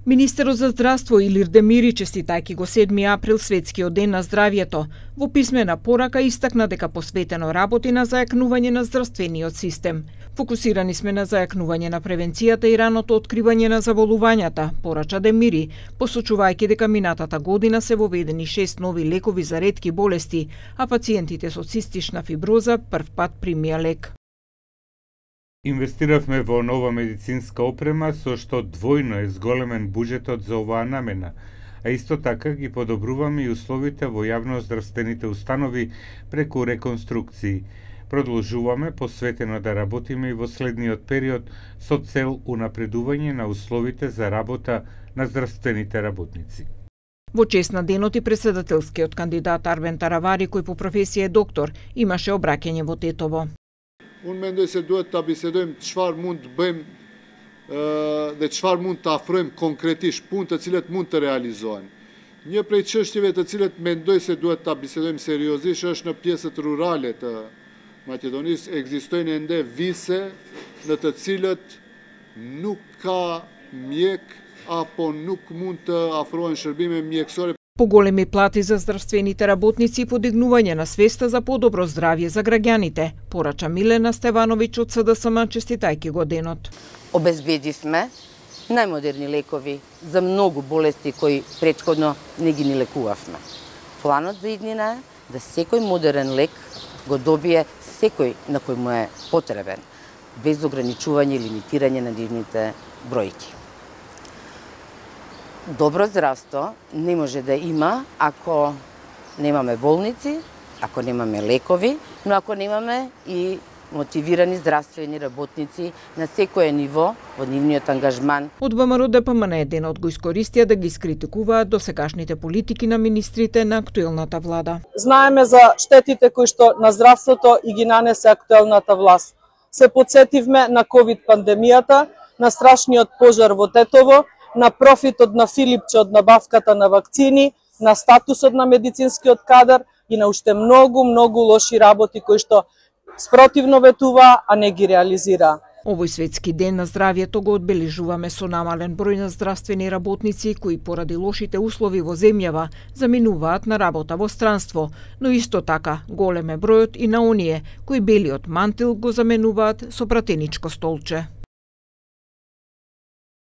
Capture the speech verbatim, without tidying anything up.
Министерот за здравство Илир Демири, честитајќи го седми април светскиот ден на здравјето, во писмена порака истакна дека посветено работи на зајакнување на здравствениот систем. Фокусирани сме на зајакнување на превенцијата и раното откривање на заболувањата, порача Демири, посочувајќи дека минатата година се воведени шест нови лекови за ретки болести, а пациентите со цистична фиброза прв пат примија лек. Инвестиравме во нова медицинска опрема, со што двојно е зголемен буџетот за оваа намена, а исто така ги подобруваме и условите во јавноздравствените установи преку реконструкции. Продолжуваме посветено да работиме и во следниот период со цел унапредување на условите за работа на здравствените работници. Во чест на денот и председателскиот кандидат Арбен Таравари, кој по професија е доктор, имаше обраќање во Тетово. Unë mendoj se duhet ta bisedojmë çfarë mund të bëjmë dhe çfarë mund të afrojmë konkretisht, punë të cilat mund të realizohen. Një prej çështjeve të cilat mendoj se duhet ta bisedojmë seriozisht është në pjesët rurale të Maqedonisë. Ekzistojnë ende vise në të cilët nuk ka mjek apo nuk mund të afrohen shërbime mjekësore. Поголеми плати за здравствените работници и подигнување на свеста за подобро здравје за граѓаните, порача Милена Стевановиќ од С Д С М, честитајќи го денот. Обезбедивме најмодерни лекови за многу болести кои претходно не ги ни лекувавме. Планот за иднина е да секој модерен лек го добие секој на кој му е потребен, без ограничување и лимитирање на нивните бројки. Добро здравство не може да има ако немаме болници, ако немаме лекови, но ако немаме и мотивирани здравствени работници на секое ниво во нивниот ангажман. Од Вэ М Р Д П М Н денот го искористија да ги скритикуваат досегашните политики на министрите на актуелната влада. Знаеме за штетите кои што на здравството и ги нанесе актуелната власт. Се потсетивме на ковид пандемијата, на страшниот пожар во Тетово, на профитот на Филипче од набавката на вакцини, на статусот на медицинскиот кадар и на уште многу, многу лоши работи кои што спротивно ветува, а не ги реализира. Овој светски ден на здравјето го одбележуваме со намален број на здравствени работници кои поради лошите услови во земјава заминуваат на работа во странство, но исто така голем е бројот и на оние кои белиот мантил го заменуваат со пратеничко столче.